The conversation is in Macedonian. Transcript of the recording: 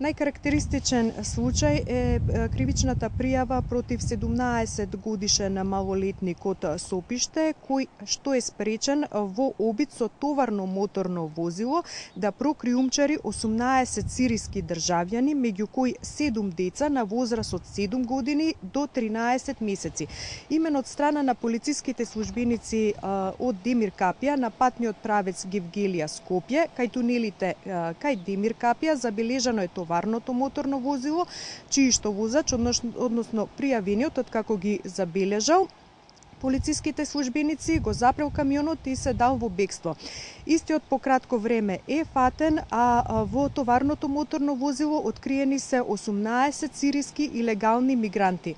Најкарактеристичен случај е кривичната пријава против 17 годишен малолетник од Сопиште, кој што е спречен во обид со товарно моторно возило да прокриумчари 18 сириски државјани, меѓу кои 7 деца на возраст од 7 години до 13 месеци. Имено од страна на полициските службеници од Демир Капија на патниот правец Гевгелија Скопје, кај тунелите кај Демир Капија забележано е товарното моторно возило, чиј што возач, односно пријавениот, откако ги забележал, полициските службеници го запрел камионот и се дал во бегство. Истиот по кратко време е фатен, а во товарното моторно возило откриени се 18 сириски илегални мигранти.